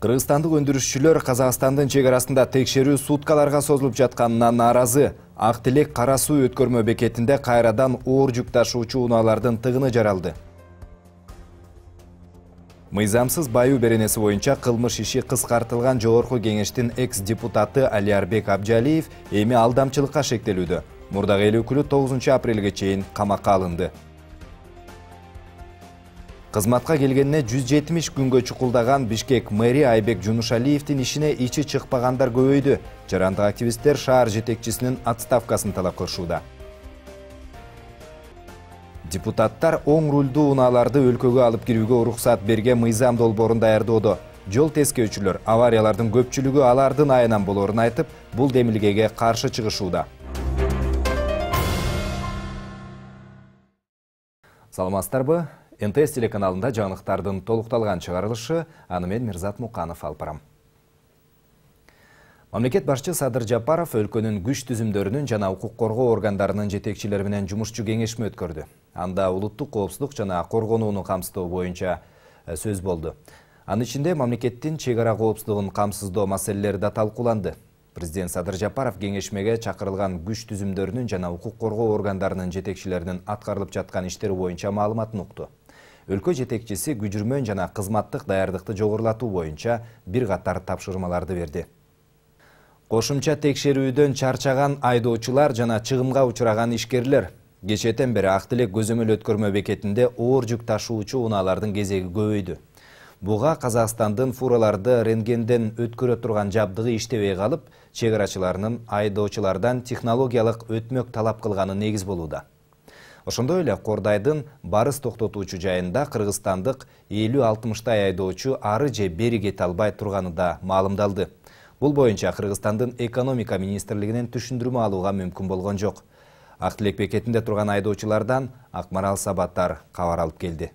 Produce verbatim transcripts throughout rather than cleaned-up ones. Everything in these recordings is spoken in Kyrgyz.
Кыргызстандык өндүрүшчүлөр Казакстандын чек арасында текшерүү суткаларга созулуп жатканына нааразы. Ак Тилек Кара Суу өткөрмө бекетинде кайрадан оор жүк ташуучу унаалардын тыгыны жаралды. Мыйзамсыз баюу беренеси боюнча кылмыш иши кыскартылган Жогорку кеңештин экс-депутаты Алиарбек Абжалиев эми алдамчылыкка шектелүүдө. Мурдагы эл өкүлү тогузунчу апрелге чейин камакка алынды. Кызматка келгенине жүз жетимиш күнгө чукулдаган Бишкек мэри Айбек Жунушалиевдин ишине ичи чыкпагандар көбөйдү. Жарандык активисттер шаар жетекчисинин отставкасын талап кылышууда. Депутаттар оң рулдуу унааларды өлкөгө алып кирүүгө уруксат берген мыйзам долбоорун даярдоодо. Жол тескөөчүлөр авариялардын көпчүлүгү алардын айынан болоорун айтып, бул демилгеге каршы чыгышууда. Саламатсыздарбы? эн тэ эс телеканалында жаңылыктардын толукталган чыгарылышы, аны мен Мирзат Муканов алып барам. Мамлекет башчы Садыр Жапаров өлкөнүн күч түзүмдөрүнүн жана укук коргоо органдарынын жетекчилери менен жумушчу кеңешме өткөрдү. Анда улуттук коопсуздук жана коргонууну камсыздоо боюнча сөз болду. Анын ичинде мамлекеттин чек ара коопсуздугун камсыздоо маселелери да талкууланды. Президент Садыр Жапаров кеңешмеге чакырылган күч түзүмдөрүнүн жана укук коргоо органдарынын жетекчилеринин аткарылып жаткан иштери боюнча маалыматын укту. Өлкө жетекчиси күжүрмөн жана кызматтык даярдыкты жогорулатуу боюнча бир катар тапшырмаларды берди. Кошумча текшерүүдөн чарчаган айдоочулар жана чыгымга учураган ишкерлер. Кечээден бери Ак Тилек көзөмөл өткөрмө бекетинде оор жүк ташуучу унаалардын кезеги көбөйдү. Буга Казакстандын фураларды рентгенден өткөрө турган жабдыгы иштебей калып, чек арачыларынын айдоочулардан технологиялык өтмөк талап кылганы негиз болууда. Ошондой эле Кордайдын барыс токтотуучу жайында кыргызстандык элүү алтымыштай айдоочу ары же бери кете албай турганы да маалымдалды. Бул боюнча Кыргызстандын экономика министрлигинен түшүндүрмө алууга мүмкүн болгон жок. Ак Тилек бекетинде турган айдоочулардан Акмарал Сабаттар кабар алып келди.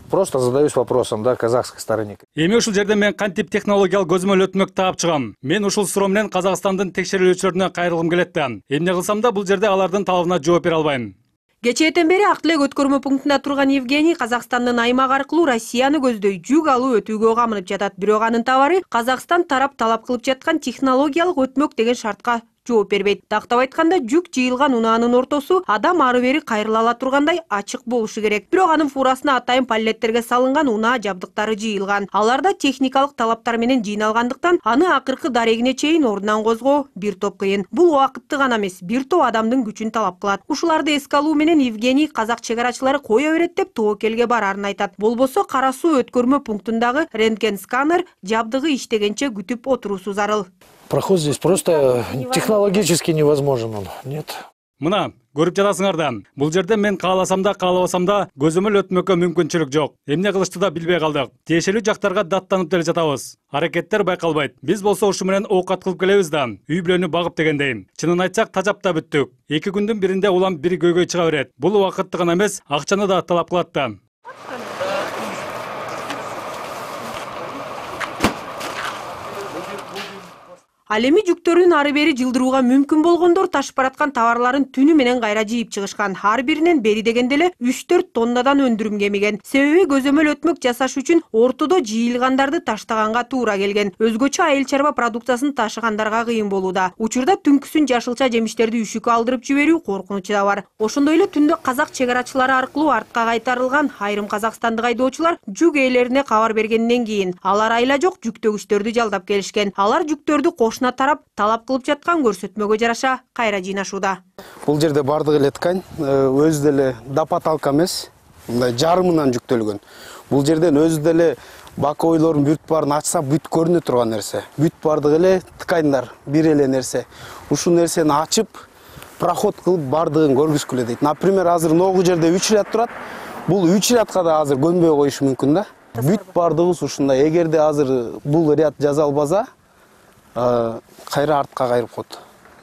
Просто задаюсь вопросом, да, казахской стороне. Эми ушул жерде мен кантип технологиялык көзөмөл өтмөк таап чыгам. Мен ушул суроо менен Казакстандын текшерүүлчүлөрүнө кайрылгым келет да. Эмне кылсам да бул жерде алардын талабына жооп бере албайм. Кечээден бери Ак Тилек өткөрмө пунктунда турган Евгений Казакстандын аймак аркылуу Россияны көздөй жүк алуу өтүүгө камынып жатат. Бирок анын товары Казакстан тарап талап кылып жаткан технологиялык өтмөк деген шартка жооп бербейт. Тактап айтканда, жүк жыйылган унаанын ортосу адам ары бери кайрыла ала тургандай ачык болушу керек. Бирок анын фурасына атайын паллеттерге салынган унаа жабдыктары жыйылган. Аларда техникалык талаптар менен жыйналгандыктан аны акыркы дарегине чейин ордунан козгоо бир топ кыйын. Бул убакытты гана эмес, бир топ адамдын күчүн талап кылат. Ушуларды эске алуу менен Евгений казак чек арачылары кое берет деп тобокелге барарын айтат. Болбосо Кара Суу өткөрмө пунктундагы рентген сканер жабдыгы иштегенче күтүп отуруусу зарыл. Проход здесь просто технологически невозможен он. Нет. Мына, көрүп жатасыңар да. Бул жерде мен кааласам да, каалабасам да көзөмөл өтмөккө мүмкүнчүлүк жок. Эмне кылышты да билбей калдык. Тиешелүү жактарга даттанып деле жатабыз. Аракеттер байкалбайт. Биз болсо ушу менен оокат кылып келебиз да. Үй бүлөнү багып дегендей. Чынын айтсак, тажап да бүттүк. Эки күндүн биринде улам бири көйгөй чыга берет. Бул убакытты гана эмес, акчаны да талап кылат да. Ал эми жүктөрүн ары бери жылдырууга мүмкүн болгондор ташып бараткан товарларын түнү менен кайра жыйып чыгышкан. Ар биринен бери дегенде эле үч төрт тоннадан өндүрүм кемиген. Себеби көзөмөл өтмөк жасаш үчүн ортодо жыйылгандарды таштаганга туура келген. Өзгөчө айыл чарба продукциясын ташыгандарга кыйын болууда. Учурда түнкүсүн жашылча жемиштерди үшүккө алдырып жиберүү коркунучу да бар. Ошондой эле түндө казак чек арачылары аркылуу артка кайтарылган айрым казакстандык айдоочулар жүк ээлерине кабар бергенден кийин алар айла жок жүктөгүчтөрдү жалдап келишкен. Алар жүктөрдү кошуна тарап талап кылып жаткан көрсөтмөгө жараша кайра жыйнашууда. Бул жерде бардыгы эле ткань, өзү деле дапаталка эмес, мындай жарымынан жүктөлгөн. Бул жерден өзү деле бакойлордун бүт баарын ачса бүт көрүнө турган нерсе. Бүт бардыгы эле тканьдар, бир эле нерсе. Ушул нерсени ачып, проход кылып бардыгын көргүзгүлө дейт. Например, азыр ногу жерде үч ряд турат. Бул үч рядка да азыр көнбөй коюшу мүмкүн да. Бүт бардыгыбыз ушундай. Эгерде азыр бул ряд жазалбаса, кайра артка кайрып коет.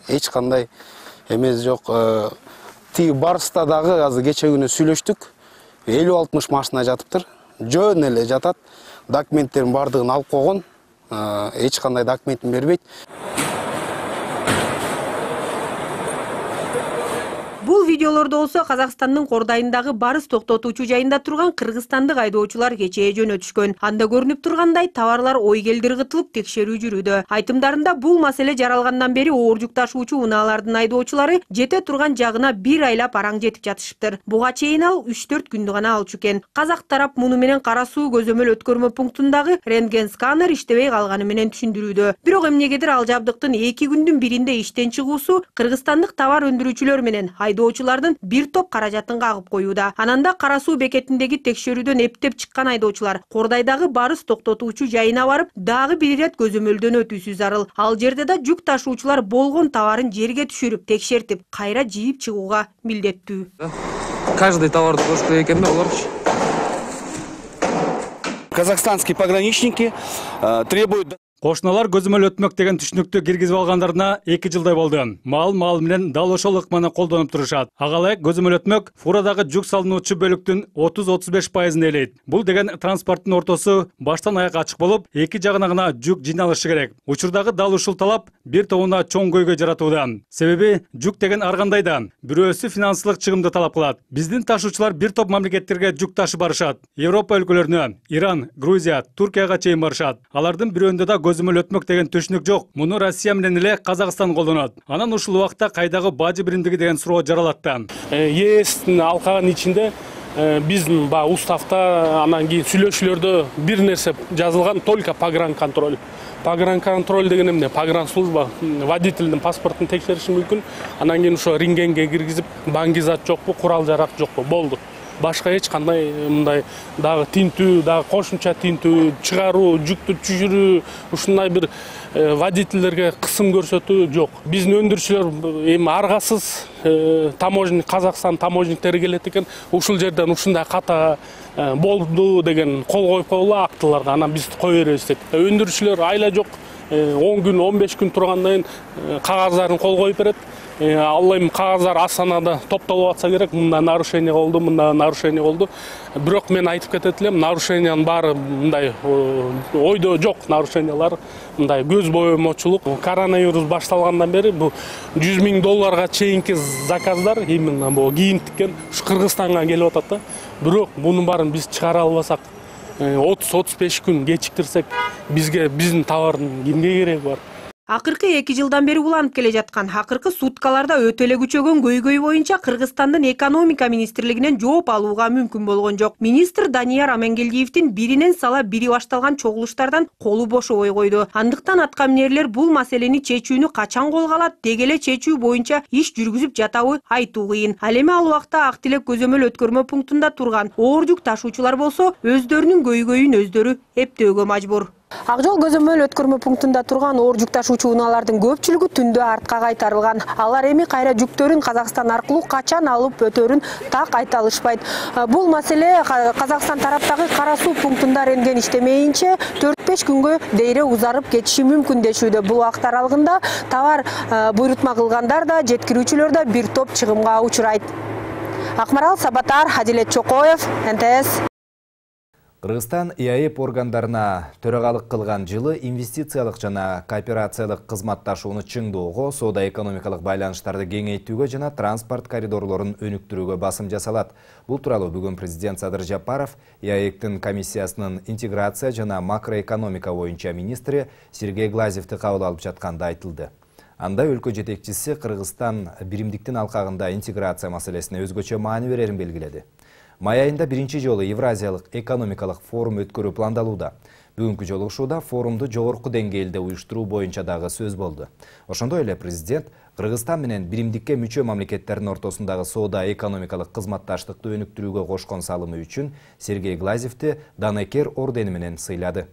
Эч кандай эмес жок. Тиги барыста дагы азыр кече күнү сүйлөштүк. элүү алтымыш машина жатыптыр. Жөн эле жатат. Документтерин бардыгын алып койгон. Эч кандай документин бербейт. Бул видеолордо болсо Казакстандын Кордайындагы барыс токтотуучу жайында турган кыргызстандык айдоочулар кечээ жөнөтүшкөн. Анда көрүнүп тургандай товарлар ойгелдир кытылып текшерүү жүрүүдө. Айтымдарында бул маселе жаралгандан бери оор жүк ташуучу унаалардын айдоочулары жете турган жагына бир айлап араң жетип жатышыптыр. Буга чейин ал үч төрт күндү гана алчу экен. Казак тарап муну менен Кара суу көзөмөл өткөрмө пунктундагы рентген сканер иштебей калганы менен түшүндүрүүдө. Бирок эмнегедир ал жабдыктын эки күндүн биринде иштен чыгуусу кыргызстандык товар өндүрүүчүлөр менен айдоочулардын бир топ каражатын кагып коюуда. Ананда Кара суу бекетиндеги текшерүүдөн эптеп чыккан айдоочулар Кордайдагы барыс токтотуучу жайына барып, дагы бир ирет көзөмөлдөн өтүүсү зарыл. Ал жерде да жүк ташуучулар болгон товарын жерге түшүрүп, текшертип, кайра жийип чыгууга милдеттүү. Каждый товарды коюш керек экен да олорчу. Казахстанские пограничники требуют... Кошуналар көзөмөл өтмөк деген түшүнүктү киргизип алгандарына эки жылдай болду. Мал мал менен дал ошол ыкманы колдонуп турушат. Ага ылайык көзөмөл өтмөк фурадагы жүк салынуучу бөлүктүн отуз отуз беш пайызын ээлейт. Бул деген транспорттун ортосу баштан аякка ачык болуп, эки жагына гана жүк жыйналышы керек. Учурдагы дал ушул талап бир тобуна чоң көйгөй жаратууда. Себеби жүк деген ар кандай да бирөөсү финансылык чыгымды талап кылат. Биздин ташуучулар бир топ мамлекеттерге жүк ташып барышат. Европа өлкөлөрүнө, Иран, Грузия, Туркияга чейин барышат. Алардын бирөөндө да көзөмөл өтмөк деген түшүнүк жок. Муну Россия менен эле Казакстан колдонот. Анан ушул убакта кайдагы бажы биримдиги деген суроо жаралат да. ЕСтин алкагынын ичинде биздин баягы уставта, анан кийин сүйлөшүүлөрдө бир нерсе жазылган, только погранконтроль. Погранконтроль деген эмне? Погранслужба водительдин паспортун текшериши мүмкүн. Анан кийин ошо рентгенге киргизип, баңгизат жокпу, курал жарак жокпу, болду. Башка эч кандай мындай дагы тинтүү, дагы кошумча тинтүү, чыгаруу, жүктү түшүрүү, ушундай бир водительдерге кысым көрсөтүү жок. Биздин өндүрүүчүлөр эми аргасыз таможник, Казакстан таможниктери келет экен. Ушул жерден ушундай ката болду деген кол коюп койгула актыларга, анан биз кое беребиз дейт. Өндүрүүчүлөр айла жок, он күн, он беш күн тургандан кийин кагаздарын кол коюп берет. Ал эми кагаздар Астанада топтолуп атса керек, мында нарушение болду, мында нарушение болду. Бирок мен айтып кетет элем, нарушениянын баары мындай ойдо жок нарушениялар, мындай көз боемочулук. Коронавирус башталгандан бери бу жүз миң долларга чейинки заказдар именно бу кийим тиккен ушу Кыргызстанга келип атат да. Бирок мунун баарын биз чыгара албасак, отуз отуз беш күн кечиктирсек, бизге биздин товардын кимге кереги бар? Акыркы эки жылдан бери уланып келе жаткан акыркы суткаларда өтө эле күчөгөн көйгөй боюнча Кыргызстандын экономика министрлигинен жооп алууга мүмкүн болгон жок. Министр Данияр Амангелдиевдин биринен сала бири башталган чогулуштардан колу бошобой койду. Андыктан атка минерлер бул маселени чечүүнү качан колго алат, деги эле чечүү боюнча иш жүргүзүп жатабы айтуу кыйын. Ал эми ал убакта Ак Тилек көзөмөл өткөрмө пунктунда турган оор жүк ташуучулар болсо өздөрүнүн көйгөйүн өздөрү эптөөгө мажбур. Ак жол көзөмөл өткөрмө пунктунда турган оор жүк ташуучу унаалардын көпчүлүгү түндө артка кайтарылган. Алар эми кайра жүктөрүн Казакстан аркылуу качан алып өтөрүн так айта алышпайт. Бул маселе Казакстан тараптагы Кара суу пунктунда рентген иштемейинче төрт беш күнгө дейре узарып кетиши мүмкүн дешүүдө. Бул убакыт аралыгында товар буйрутма кылгандар да, жеткирүүчүлөр да бир топ чыгымга учурайт. Акмарал Сабатар, Адилет Чокоев, эн тэ эс. Кыргызстан ИАЭП органдарына төрагалык кылган жылы инвестициялык жана кооперациялык кызматташууну чыңдоого, соода-экономикалык байланыштарды кеңейтүүгө жана транспорт коридорлорун өнүктүрүүгө басым жасалат. Бул тууралуу бүгүн президент Садыр Жапаров ИАЭПтин комиссиясынын интеграция жана макроэкономика боюнча министри Сергей Глазьевди кабыл алып жатканда айтылды. Анда өлкө жетекчиси Кыргызстан биримдиктин алкагында интеграция маселесине өзгөчө маани берерин белгиледи. Май айында биринчи жолу Евразиялык экономикалык форум өткөрүү пландалууда. Бүгүнкү жолугушууда форумду жогорку деңгээлде уюштуруу боюнча дагы сөз болду. Ошондой эле президент Кыргызстан менен биримдикке мүчө мамлекеттердин ортосундагы соода-экономикалык кызматташтыкты өнүктүрүүгө кошкон салымы үчүн Сергей Глазьевди Данекер ордени менен сыйлады.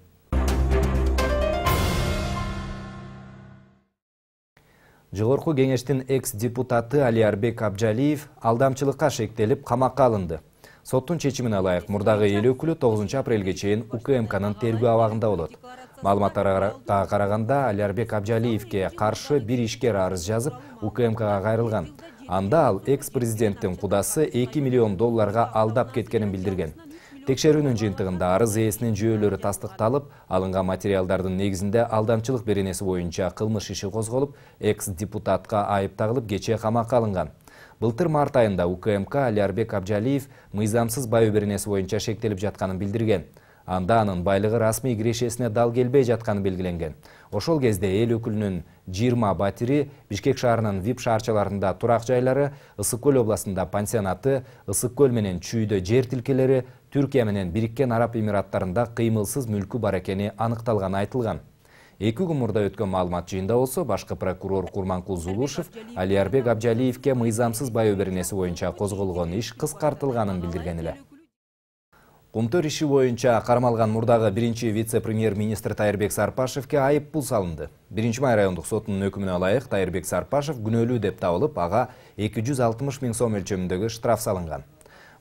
Жогорку кеңештин экс-депутаты Алиарбек Абжалиев алдамчылыкка шектелип камакка алынды. Соттун чечимине ылайык мурдагы эл өкүлү тогузунчу апрелге чейин У К М К'нын тергөө абагында болот. Маалыматтарга караганда Алиарбек Абжалиевге каршы бир ишкер арыз жазып У К М К'га кайрылган. Анда ал экс-президенттин кудасы эки миллион долларга алдап кеткенин билдирген. Текшерүүнүн жыйынтыгында арыз ээсинин жүйөлөрү тастыкталып, алынган материалдардын негизинде алдамчылык беренеси боюнча кылмыш иши козголуп, экс-депутатка айып тагылып кечээ камакка алынган. Былтыр март айында УКМК Алиарбек Абжалиев мыйзамсыз баю беренеси боюнча шектелип жатканын билдирген. Анда анын байлыгы расмий кирешесине дал келбей жатканы белгиленген. Ошол кезде эл өкүлүнүн жыйырма батири, Бишкек шаарынын вип шаарчаларында турак жайлары, Ысык көл областында пансионаты, Ысык көл менен Чүйдө жер тилкелери, Түркия менен Бириккен Араб Эмираттарында кыймылсыз мүлкү бар экени аныкталганы айтылган. Эки күн мурда өткөн маалымат жыйында болсо, башкы прокурор Курманкул Зулушев Алиарбек Абжалиевке мыйзамсыз баю беренеси боюнча козголгон иш кыскартылганын билдирген эле. Кумтөр иши боюнча кармалган мурдагы биринчи вице-премьер-министр Тайырбек Сарпашевке айып пул салынды. биринчи май райондук сотунун өкүмүнө ылайык Тайырбек Сарпашев күнөөлүү деп табылып, ага эки жүз алтымыш миң сом өлчөмүндөгү штраф салынган.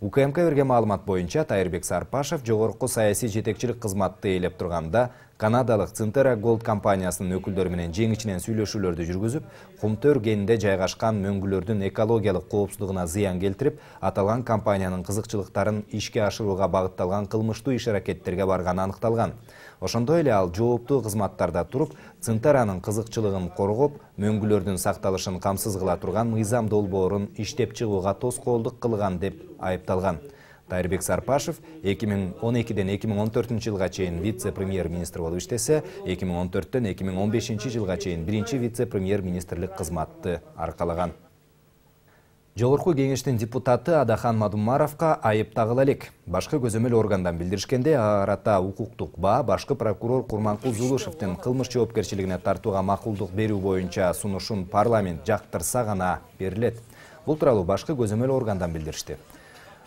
УКМК берген маалымат боюнча Тайырбек Сарпашев жогорку саясий жетекчилик кызматты ээлеп турганда канадалык Цинтера Голд компаниясынын өкүлдөрү менен жең ичинен сүйлөшүүлөрдү жүргүзүп, Кумтөр кенинде жайгашкан мөңгүлөрдүн экологиялык коопсуздугуна зыян келтирип, аталган компаниянын кызыкчылыктарын ишке ашырууга багытталган кылмыштуу иш-аракеттерге барганы аныкталган. Ошондой эле ал жооптуу кызматтарда туруп, Цинтеранын кызыкчылыгын коргоп, мөңгүлөрдүн сакталышын камсыз кыла турган мыйзам долбоорун иштеп чыгууга тоскоолдук кылган деп айыпталган. Тайырбек Сарпашев эки миң он экиден эки миң он төртүнчү жылга чейин вице-премьер-министр болуп иштесе, эки миң он төрттөн эки миң он бешинчи жылга чейин биринчи вице-премьер-министрлик кызматты аркалаган. Жогорку кеңештин депутаты Адахан Мадумаровка айып тагыла элек. Башкы көзөмөл органдан билдиришкенде, арата укуктук баа башкы прокурор Курманкул Зулушевдин кылмыш жоопкерчилигине тартууга макулдук берүү боюнча сунушун парламент жактырса гана берилет. Бул тууралуу башкы көзөмөл органдан билдиришти.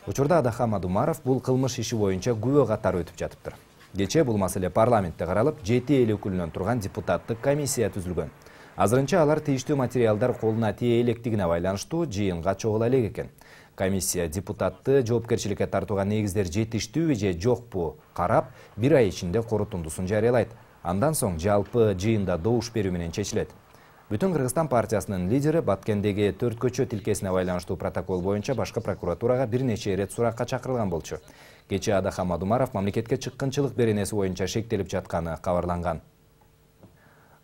Учурда Адахан Мадумаров бул кылмыш иши боюнча күбө катары өтүп жатыптыр. Кечээ бул маселе парламентте каралып, жети эл өкүлүнөн турган депутаттык комиссия түзүлгөн. Азырынча алар тийиштүү материалдар колуна тие электигине байланыштуу жыйынга чогула элек экен. Комиссия депутатты жоопкерчиликке тартууга негиздер жетиштүүбү же жокпу карап, бир ай ичинде корутундусун жарыялайт. Андан соң жалпы жыйында добуш берүү менен чечилет. Бүтүн Кыргызстан партиясынын лидери Баткендеги төрт көчө тилкесине байланыштуу протокол боюнча башкы прокуратурага бир нече ирет суракка чакырылган болчу. Кечээ Адахан Мадумаров мамлекетке чыккынчылык беренеси боюнча шектелип жатканы кабарланган.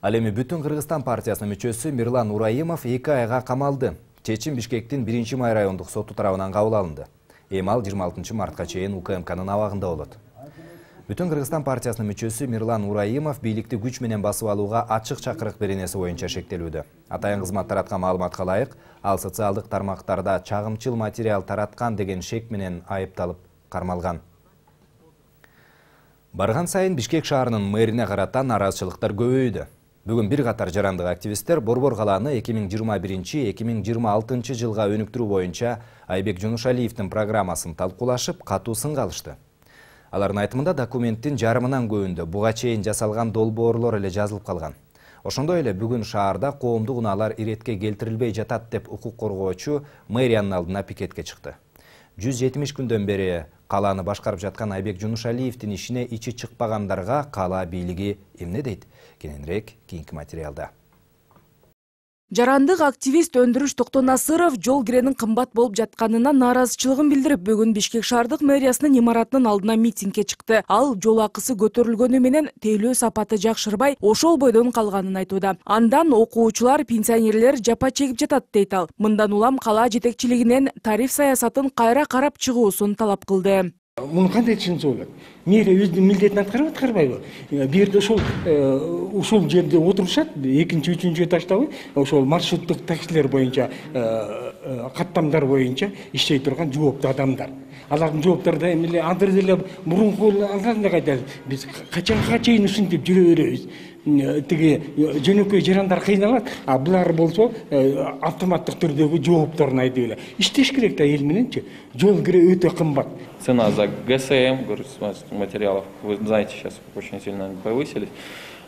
Ал эми Бүтүн Кыргызстан партиясынын мүчөсү Мирлан Ураимов эки айга камалды. Чечим Бишкектин биринчи май райондук соту тарабынан кабыл алынды. Эми ал жыйырма алтынчы мартка чейин УКМКнын абагында болот. Бүтүн Кыргызстан партиясынын мүчөсү Мирлан Ураимов бийликти күч менен басып алууга ачык чакырык беренеси боюнча шектелүүдө. Атайын кызмат тараткан маалыматка ылайык, ал социалдык тармактарда чагымчыл материал тараткан деген шек менен айыпталып кармалган. Барган сайын Бишкек шаарынын мэрине карата нааразычылыктар көбөйдү. Бүгүн бир катар жарандык активисттер Борбор калааны эки миң жыйырма биринчи — эки миң жыйырма алтынчы жылга өнүктүрүү боюнча Айбек Жунушалиевдин программасын талкуулашып, катуу сынга алышты. Алардын айтымында документтин жарымынан көбүндө буга чейин жасалган долбоорлор эле жазылып калган. Ошондой эле бүгүн шаарда коомдук унаалар иретке келтирилбей жатат деп укук коргоочу мэриянын алдына пикетке чыкты. жүз жетимиш күндөн бери калааны башкарып жаткан Айбек Жунушалиевдин ишине ичи чыкпагандарга кала бийлиги эмне дейт? Кененирээк кийинки материалда. Жарандык активист Өндүрүш Токтонасыров жол киренин кымбат болуп жатканына нааразычылыгын билдирип, бүгүн Бишкек шаардык мэриясынын имаратынын алдына митингге чыкты. Ал жол акысы көтөрүлгөнү менен тейлөө сапаты жакшырбай, ошол бойдон калганын айтууда. Андан окуучулар, пенсионерлер жапа чегип жатат дейт ал. Мындан улам кала жетекчилигинен тариф саясатын кайра карап чыгуусун талап кылды. Муну кандай түшүнсө болот? Мэрия өзүнүн милдетин аткарып аткарбайбы? Бул жерде ошол ушул жерде отурушат, экинчи, үчүнчү этаждагы ошол маршруттук таксилер боюнча, каттамдар боюнча иштей турган жооптуу адамдар. Алардын жооптары да эмне андыр деле мурунку алганда кайда биз качанга чейин ушинтип жүрө беребиз. Тиги жөнөкөй жарандар кыйналат, а булар болсо автоматтык түрдөгү жоопторун айтып эле. Иштеш керек да эл мененчи. Жол кире өтө кымбат. Цена за ГСМ, материалов, вы знаете, сейчас очень сильно повысились.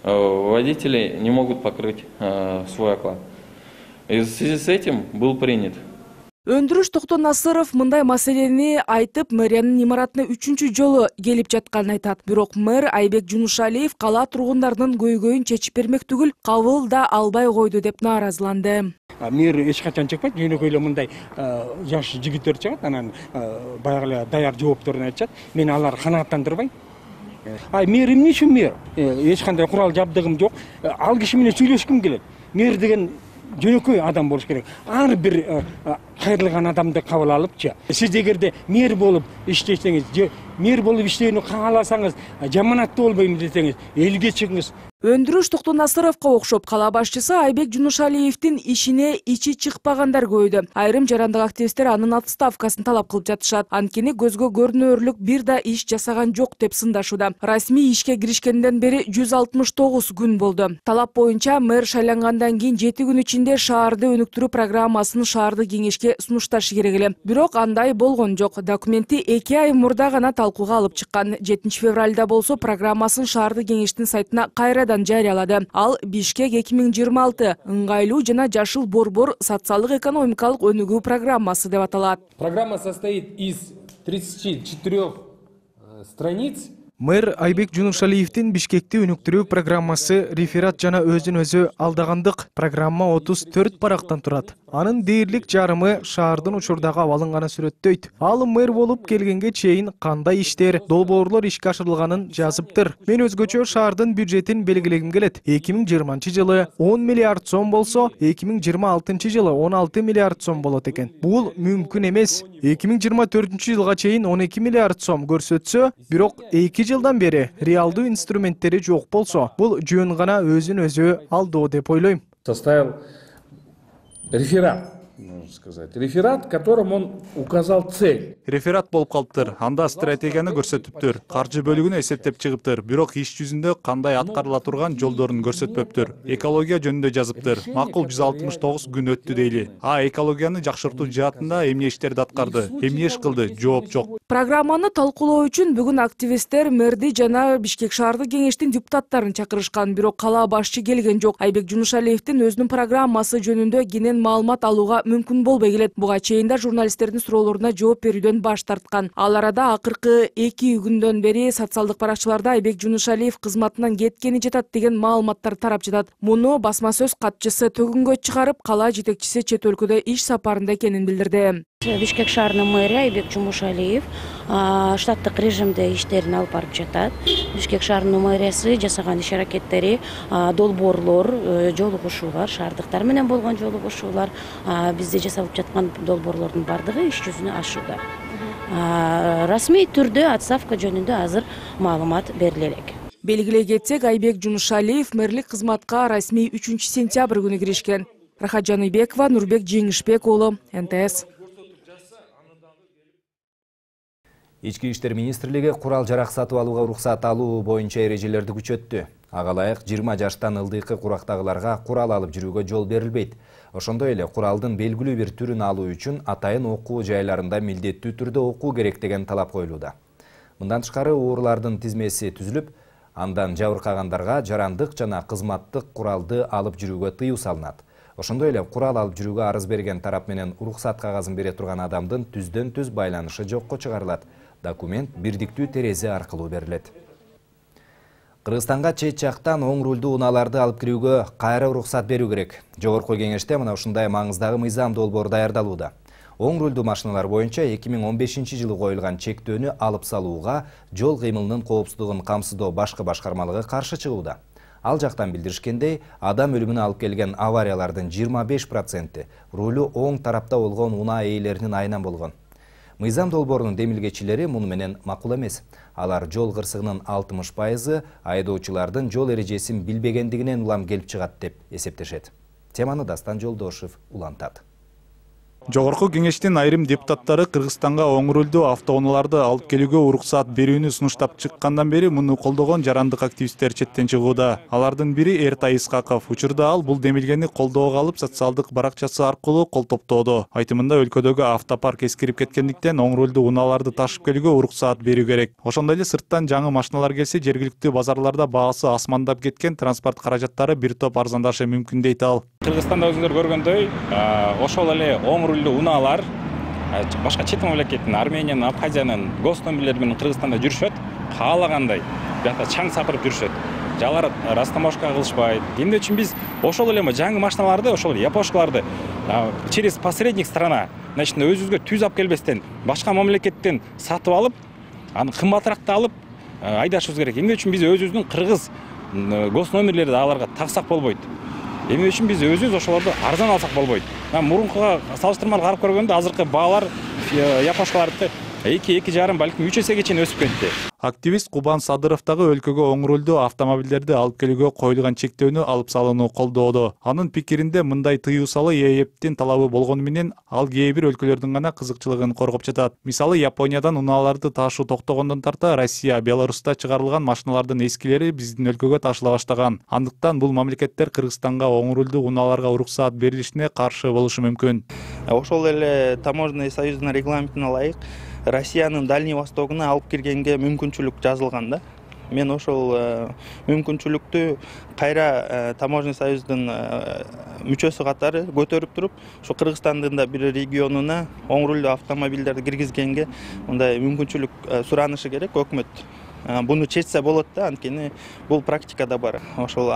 Водители не могут покрыть свой оклад. И в связи с этим был принят. Өндүрүш Токтонасыров мындай маселени айтып, мэриянын имаратына үчүнчү жолу келип жатканын айтат. Бирок мэр Айбек Жунушалиев кала тургундарынын көйгөйүн чечип бермек түгүл, кабыл да албай койду деп нааразыланды. Мэр эч качан чыкпайт, жөнөкөй эле мындай жаш жигиттер чыгат, анан баягы эле даяр жоопторун айтышат. Мен алар канааттандырбайм. Ай, мэр эмне үчүн мэр? Эч кандай курал жабдыгым жок. Ал киши менен сүйлөшкүм келет. Мэр деген жөнөкөй адам болуш керек. Ар бир кайрылган адамды кабыл алыпчы. Сиз эгерде мэр болуп иштесеңиз, же мэр болуп иштөөнү кааласаңыз, жаманаттуу болбойм десеңиз, элге чыгыңыз. Өндүрүш Токтонасыровго окшоп кала башчысы Айбек Жунушалиевдин ишине ичи чыкпагандар көбөйдү. Айрым жарандык активисттер анын отставкасын талап кылып жатышат. Анткени көзгө көрүнөрлүк бир да иш жасаган жок деп сындашууда. Расмий ишке киришкенден бери жүз алтымыш тогуз күн болду. Талап боюнча мэр шайлангандан кийин жети күн ичинде шаарды өнүктүрүү программасын шаардык кеңешке сунушташы керек эле. Бирок андай болгон жок. Документти эки ай мурда гана талкууга алып чыккан. жетинчи февралда болсо программасын шаардык кеңештин сайтына кайра жарыялады. Ал Бишкек эки миң жыйырма алты ыңгайлуу жана жашыл борбор социалдык экономикалык өнүгүү программасы деп аталат. Программа состоит из тридцати четырёх страниц. Мэр Айбек Жунушалиевдин Бишкекти өнүктүрүү программасы реферат жана өзүн өзү алдагандык программа отуз төрт барактан турат. Анын дээрлик жарымы шаардын учурдагы абалын гана сүрөттөйт. Ал мэр болуп келгенге чейин кандай иштер, долбоорлор ишке ашырылганын жазыптыр. Мен өзгөчө шаардын бюджетин белгилегим келет. эки миң жыйырманчы жылы он миллиард сом болсо, эки миң жыйырма алтынчы жылы он алты миллиард сом болот экен. Бул мүмкүн эмес. эки миң жыйырма төртүнчү жылга чейин он эки миллиард сом көрсөтсө, бирок эки жылдан бери реалдуу инструменттери жок болсо, бул жөн гана өзүн өзү алдоо деп ойлойм. Составил реферат, можно сказать. Реферат, в котором он указал цель. Реферат болуп калыптыр. Анда стратегияны көрсөтүптүр. Каржы бөлүгүнү эсептеп чыгыптыр. Бирок иш жүзүндө кандай аткарыла турган жолдорун көрсөтпөптүр. Экология жөнүндө жазыптыр. Макул жүз алтымыш тогуз күн өттү дейли. А экологияны жакшыртуу жаатында эмне иштерди аткарды? Эмне иш кылды? Жооп жок. Программаны талкуулоо үчүн бүгүн активисттер мэрди жана Бишкек шаардык кеңештин депутаттарын чакырышкан, бирок кала башчы келген жок. Айбек Жунушалиевдин өзүнүн программасы жөнүндө кенен маалымат алууга мүмкүн болбой келет. Буга чейин да журналисттердин суроолоруна жооп берүүдөн баш тарткан. Ал арада акыркы эки күндөн бери социалдык баракчаларда Айбек Жунушалиев кызматынан кеткени жатат деген маалыматтар тарап жатат. Муну басма сөз катчысы төгүнгө чыгарып, кала жетекчиси чет өлкөдө иш сапарында экенин билдирди. Бишкек шаарынын мэрі Айбек Жумушалиев штаттык режимде иштерин алып барып жатат. Бишкек шаарынын мэриясы жасаган иш аракеттери, долбоорлор, жолугушуулар, шаардыктар менен болгон жолугушуулар, бизде жасалып жаткан долбоорлордун бардыгы иш жүзүнө ашууда. Расмий түрдө отставка жөнүндө азыр маалымат бериле элек. Белгилей кетсек, Айбек Жунушалиев мэрлик кызматка расмий үчүнчү сентябрь күнү киришкен. Рахат Жаныбекова, Нурбек Жеңишбек уулу, Н Т С. Ички иштер министрлиги курал жарак сатып алууга уруксат алуу боюнча эрежелерди күчөттү. Ага ылайык жыйырма жаштан ылдыйкы курактагыларга курал алып жүрүүгө жол берилбейт. Ошондой эле куралдын белгилүү бир түрүн алуу үчүн атайын окуу жайларында милдеттүү түрдө окуу керек деген талап коюлууда. Мындан тышкары уурлардын тизмеси түзүлүп, андан жабыркагандарга жарандык жана кызматтык куралды алып жүрүүгө тыюу салынат. Ошондой эле курал алып жүрүүгө арыз берген тарап менен уруксат кагазын бере турган адамдын түздөн түз байланышы жокко чыгарылат. Документ бирдиктүү терезе аркылуу берилет. Кыргызстанга чет жактан оң рулдуу унааларды алып кирүүгө кайра уруксат берүү керек. Жогорку кеңеште мына ушундай маңыздагы мыйзам долбоор даярдалууда. Оң рулдуу машиналар боюнча эки миң он бешинчи жылы коюлган чектөөнү алып салууга жол кыймылынын коопсуздугун камсыздоо башкы башкармалыгы каршы чыгууда. Ал жактан билдиришкендей, адам өлүмүнө алып келген авариялардын жыйырма беш проценти рулу оң тарапта болгон унаа ээлеринин айынан болгон. Мыйзам долбоорунун демилгечилери муну менен макул эмес. Алар жол кырсыгынын алтымыш пайызы айдоочулардын жол эрежесин билбегендигинен улам келип чыгат деп эсептешет. Теманы Дастан Жолдошев улантат. Жогорку кеңештин айрым депутаттары Кыргызстанга оң рулдуу автоунааларды алып келүүгө уруксат берүүнү сунуштап чыккандан бери муну колдогон жарандык активисттер четтен чыгууда. Алардын бири Эртай Исхаков. Учурда ал бул демилгени колдоого алып социалдык баракчасы аркылуу кол топтоодо. Айтымында өлкөдөгү автопарк эскирип кеткендиктен оң рулдуу унааларды ташып келүүгө уруксат берүү керек. Ошондой эле сырттан жаңы машиналар келсе, жергиликтүү базарларда баасы асмандап кеткен транспорт каражаттары бир топ арзандашы мүмкүн дейт ал. Кыргызстанда өзүңөр көргөндөй, ошол эле оң унаалар башка чет мамлекеттин, Армениянын, Абхазиянын гостомобилдери менен Кыргызстанда жүрүшөт, каалагандай бияка чаң сапырып жүрүшөт. Жалар растаможка кылышпайт. Эмне үчүн биз ошол эле жаңы машиналарды, ошол япошкаларды через посредник страна, значит, өзүбүзгө түз алып келбестен башка мамлекеттен сатып алып, аны кымбатыраак алып айдашыбыз керек. Эмне үчүн биз өзүбүздүн кыргыз гостномерлерди аларга таксак болбойт? Эмне үчүн биз өзүбүз ошолорду арзан алсак болбойт? Мурункуга салыштырмалуу карап көргөндө азыркы баалар япошкалардыкы эки эки жарым балким үч эсеге чейин өсүп кетти. Активист Кубан Садыров дагы өлкөгө оң рулдуу автомобилдерди алып келүүгө коюлган чектөөнү алып салууну колдоодо. Анын пикиринде мындай тыюу салуу ээптин талабы болгону менен ал кээ бир өлкөлөрдүн гана кызыкчылыгын коргоп жатат. Мисалы, Япониядан унааларды таашуу токтогондон тарта Россия, Беларуста чыгарылган машиналардын эскилери биздин өлкөгө ташыла баштаган. Андыктан бул мамлекеттер Кыргызстанга оң рулдуу унааларга уруксаат берилишине каршы болушу мүмкүн. Ошол эле таможенный союздун регламентине ылайык Россиянын Дальний Востогуна алып киргенге мүмкүнчүлүк жазылган да. Мен ошол мүмкүнчүлүктү кайра таможенный союздун мүчөсү катары көтөрүп туруп, ошо Кыргызстандын да бир регионуна оң рулдуу автомобилдерди киргизгенге мындай мүмкүнчүлүк суранышы керек өкмөт. Буну чечсе болот да, анткени бул практикада бар. Ошол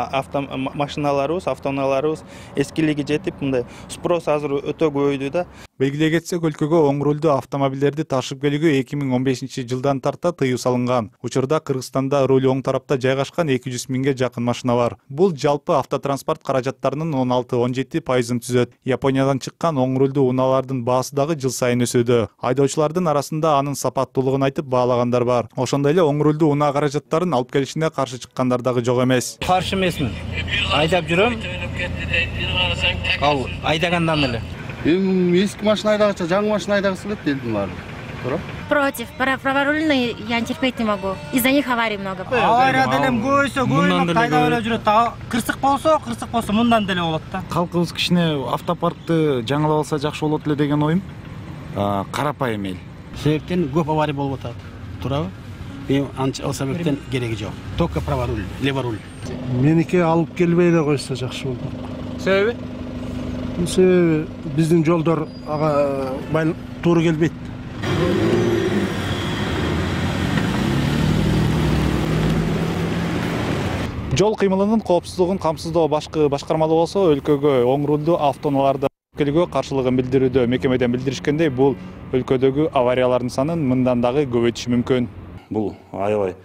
машиналарыбыз, автоунааларыбыз эскилиги жетип, мындай спрос азыр өтө көбөйдү да. Белгилей кетсек, өлкөгө оң рулдуу автомобилдерди ташып келүүгө эки миң он бешинчи жылдан тарта тыюу салынган. Учурда Кыргызстанда руль оң тарапта жайгашкан эки жүз миңге жакын машина бар. Бул жалпы автотранспорт каражаттарынын он алты он жети пайызын түзөт. Япониядан чыккан оң рулдуу унаалардын баасы дагы жыл сайын өсүүдө. Айдоочулардын арасында анын сапаттуулугун айтып баалагандар бар. Ошондой эле оң рулдуу унаа каражаттарын алып келишине каршы чыккандар дагы жок эмес. Каршы эмесмин. Айдап жүрөм. Ал айдагандан эле. Эми эски машина айдагыча жаңы машина айдагысы келет элдин баары. Туура? Против. Праворульные я терпеть не могу. Из-за них аварий много. Авария делем көбөйсө, көбөймөк айдап эле жүрөт. Кырсык болсо, кырсык болсо мындан деле болот да. Калкыбыз кичине автопаркты жаңылап алса жакшы болот эле деген оюм. Карапайым эл. Себептен көп авария болуп атат. Туурабы? Мен ал себептен кереги жок. Только праворуль, леворуль. Меники алып келбей эле койсо жакшы болот. Себеби? Себеби биздин жолдор ага туура келбейт. Жол кыймылынын коопсуздугун камсыздоо башкы башкармалуу болсо, өлкөгө оң рулдуу автоунааларды келүүгө каршылыгын билдирүүдө. Мекемеден билдиришкендей, бул өлкөдөгү авариялардын санын мындан дагы көбөйтүшү мүмкүн. Бул аябай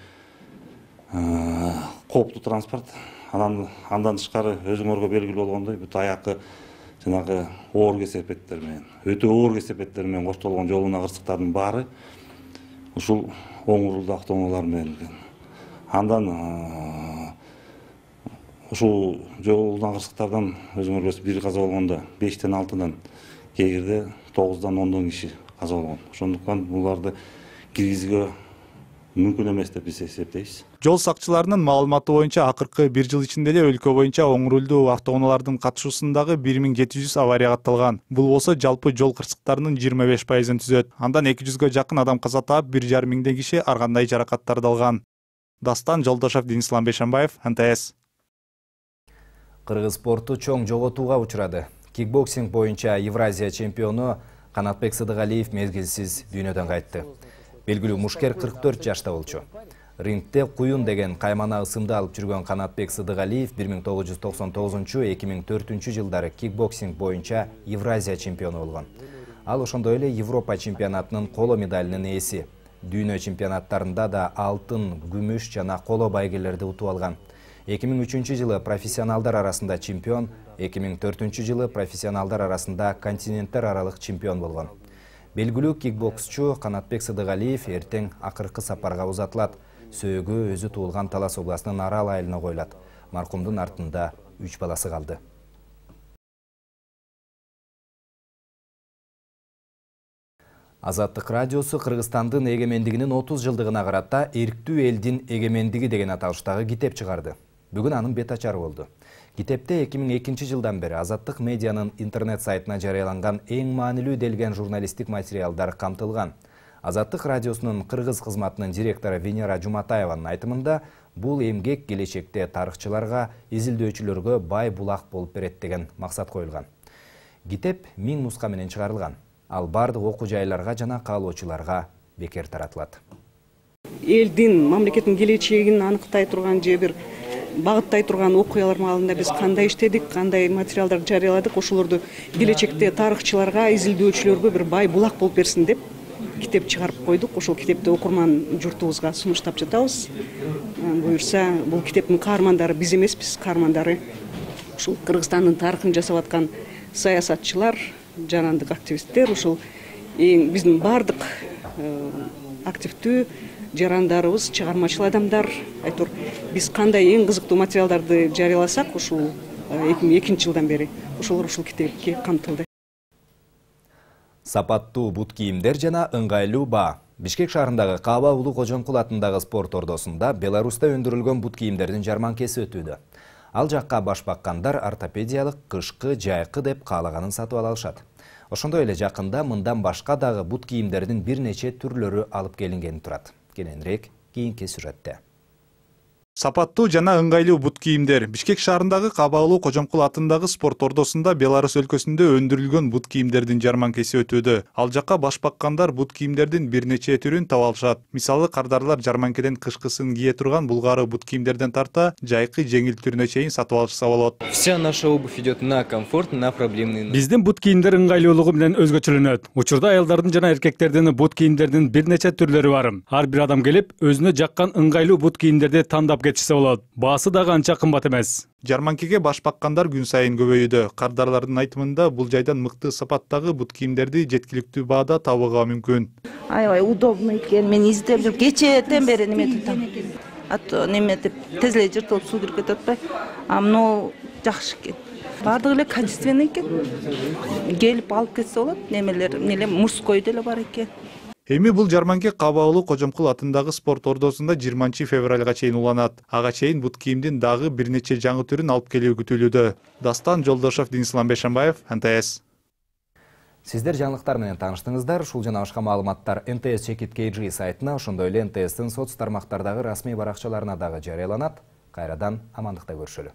кооптуу транспорт. Анан андан тышкары өзүңөргө белгилүү болгондой, бүт аякы жанагы оор кесепеттер менен, өтө оор кесепеттер менен коштолгон жол унаа кырсыктардын баары ушул оң рулдуу автоунаалар менен. Андан ушул жол унаа кырсыктардан өзүңөр билесиз, бир каза болгондо бештен алтыдан, кээде тогуздан ондон киши каза болгон. Ошондуктан буларды киргизүүгө мүмкүн эмес деп биз эсептейбиз. Жол сакчыларынын маалыматы боюнча акыркы бир жыл ичинде эле өлкө боюнча оң рулдуу автоунаалардын катышуусундагы бир миң жети жүз авария катталган. Бул болсо жалпы жол кырсыктарынын жыйырма беш пайызын түзөт. Андан эки жүзгө жакын адам каза таап, бир жарым миңдей киши ар кандай жаракаттарды алган. Дастан Жолдошев, Денислам Бейшенбаев, эн тэ эс. Кыргыз спорту чоң жоготууга учурады. Кикбоксинг боюнча Евразия чемпиону Канатбек Сыдыгалиев мезгилсиз дүйнөдөн кайтты. Белгилүү мушкер кырк төрт жашта болчу. Рингте куюн деген каймана ысымды алып жүргөн Канатбек Сыдыгалиев бир миң тогуз жүз токсон тогузунчу — эки миң төртүнчү жылдары кикбоксинг боюнча Евразия чемпиону болгон. Ал ошондой эле Европа чемпионатынын коло медалынын ээси. Дүйнө чемпионаттарында да алтын, күмүш жана коло байгелерди утуп алган. эки миң үчүнчү жылы профессионалдар арасында чемпион, эки миң төртүнчү жылы профессионалдар арасында континенттер аралык чемпион болгон. Белгилүү кикбоксчу Канатбек Сыдыгалиев эртең акыркы сапарга узатылат. Сөөгү өзү туулган Талас областынын Арал айылына коюлат. Маркумдун артында үч баласы калды. Азаттык радиосу Кыргызстандын эгемендигинин отуз жылдыгына карата «Эрктүү элдин эгемендиги» деген аталыштагы китеп чыгарды. Бүгүн анын бет ачары болду. Китепте эки миң экинчи жылдан бери Азаттык медианын интернет сайтына жарыяланган эң маанилүү делген журналисттик материалдар камтылган. Азаттык радиосунун кыргыз кызматынын директору Венера Жуматаеванын айтымында, бул эмгек келечекте тарыхчыларга, изилдөөчүлөргө бай булак болуп берет деген максат коюлган. Китеп миң нуска менен чыгарылган. Ал бардык окуу жайларга жана каалоочуларга бекер таратылат. Элдин, мамлекеттин келечегин аныктай турган же бир багыттай турган окуялар маалында биз кандай иштедик, кандай материалдарды жарыяладык, ошолорду келечекте тарыхчыларга, изилдөөчүлөргө бир бай булак болуп берсин деп китеп чыгарып койдук. Ошол китепти окурман журтубузга сунуштап жатабыз. Буюрса, бул китептин каармандары биз эмеспиз, каармандары ушул Кыргызстандын тарыхын жасап аткан саясатчылар, жарандык активисттер, ушул эң биздин бардык активдүү жарандарыбыз, чыгармачыл адамдар, айтор биз кандай эң кызыктуу материалдарды жарыяласак, ушул эки миң экинчи жылдан бери ошолор ушул китепке камтылды. Сапаттуу бут кийимдер жана ыңгайлуу баа. Бишкек шаарындагы Каба Улуу Кожомкул атындагы спорт ордосунда Беларуста өндүрүлгөн бут кийимдердин жарманкеси өтүүдө. Ал жакка баш баккандар ортопедиялык, кышкы, жайкы деп каалаганын сатып ала алышат. Ошондой эле жакында мындан башка дагы бут кийимдердин бир нече түрлөрү алып келингени турат. Кененирээк кийинки сюжетте. Сапаттуу жана ыңгайлуу бут кийимдер Бишкек шаарындагы Каба Улуу Кожомкул атындагы спорт ордосунда Беларусь өлкөсүндө өндүрүлгөн бут кийимдердин жарманкеси өтүүдө. Ал жакка баш баккандар бут кийимдердин бир нече түрүн таба алышат. Мисалы, кардарлар жарманкеден кышкысын кие турган булгары бут кийимдерден тарта жайкы жеңил түрүнө чейин сатып алышса болот. Вся наша обувь идет на комфорт, на проблемный. Биздин бут кийимдер ыңгайлуулугу менен өзгөчөлөнөт. Учурда аялдардын жана эркектердин бут кийимдердин бир нече түрлөрү бар. Ар бир адам келип, өзүнө жаккан ыңгайлуу бут кийимдерди тандап кетишсе болот. Баасы дагы анча кымбат эмес. Жарманкеге баш баккандар күн сайын көбөйүүдө. Кардарлардын айтымында бул жайдан мыкты сапаттагы бут кийимдерди жеткиликтүү баада табууга мүмкүн. Аябай удобный экен. Мен издеп жүрүп кечээден бери неме тутам. Ато неме деп тез эле жыртылып суу кирип кетип атпайбы? А мына жакшы экен. Бардыгы эле качественный экен. Келип алып кетсе болот. Немелер, эле мужской деле бар экен. Эми бул жарманке Каба Улуу Кожомкул атындагы спорт ордосунда жыйырманчы февралга чейин уланат. Ага чейин бут кийимдин дагы бир нече жаңы түрүн алып келүү күтүлүүдө. Дастан Жолдошов, Денислам Бешенбаев, эн тэ эс. Сиздер жаңылыктар менен тааныштыңыздар. Ушул жана башка маалыматтар эн тэ эс чекит кей джи сайтына, ошондой эле эн тэ эстин соц тармактардагы расмий баракчаларына дагы жарыяланат. Кайрадан амандыкта көрүшөлү.